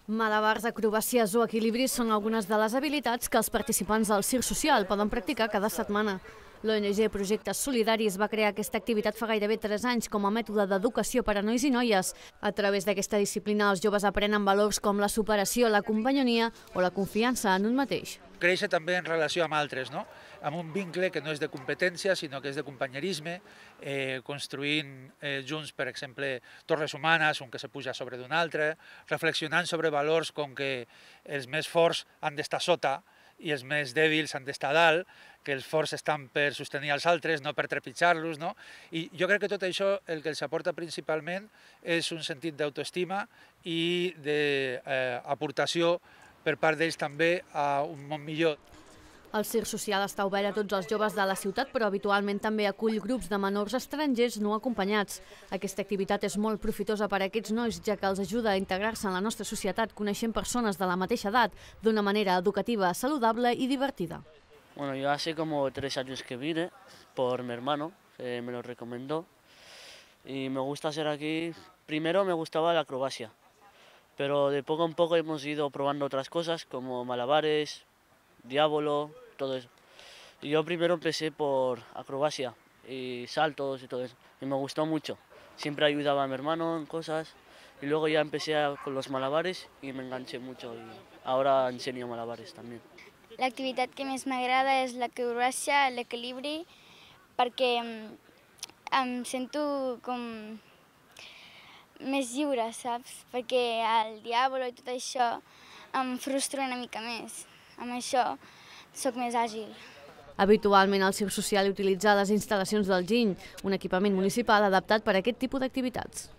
Malabars, acrobàcies o equilibris són algunes de les habilitats que els participants del Circ Social poden practicar cada setmana. L'ONG Projectes Solidaris va crear aquesta activitat fa gairebé 3 anys com a mètode d'educació per a nois i noies. A través d'aquesta disciplina, els joves aprenen valors com la superació, la companyonia o la confiança en un mateix. Créixer també en relació amb altres, no? Amb un vincle que no és de competència, sinó que és de companyerisme, construint junts, per exemple, torres humanes, un que se puja sobre d'un altre, reflexionant sobre valors com que els més forts han d'estar sota i els més dèbils han d'estar dalt, que els forts estan per sostenir els altres, no per trepitjar-los, no? I jo crec que tot això el que els aporta principalment és un sentit d'autoestima i d'aportació per part d'ells també a un món millor. El Circ Social està obert a tots els joves de la ciutat, però habitualment també acull grups de menors estrangers no acompanyats. Aquesta activitat és molt profitosa per a aquests nois, ja que els ajuda a integrar-se en la nostra societat coneixent persones de la mateixa edat d'una manera educativa, saludable i divertida. Bueno, yo hace como 3 años que vine por mi hermano, me lo recomendó y me gusta hacer aquí. Primero me gustaba la acrobacia, pero de poco en poco hemos ido probando otras cosas como malabares, diablo, todo eso. Y yo primero empecé por acrobacia y saltos y todo eso, y me gustó mucho. Siempre ayudaba a mi hermano en cosas y luego ya empecé con los malabares y me enganché mucho y ahora enseño malabares también. L'activitat que més m'agrada és l'acrobàcia, l'equilibri, perquè em sento com més lliure, saps? Perquè el diàbolo i tot això em frustra una mica més. Amb això sóc més àgil. Habitualment el Circ Social utilitza les instal·lacions del Giny, un equipament municipal adaptat per a aquest tipus d'activitats.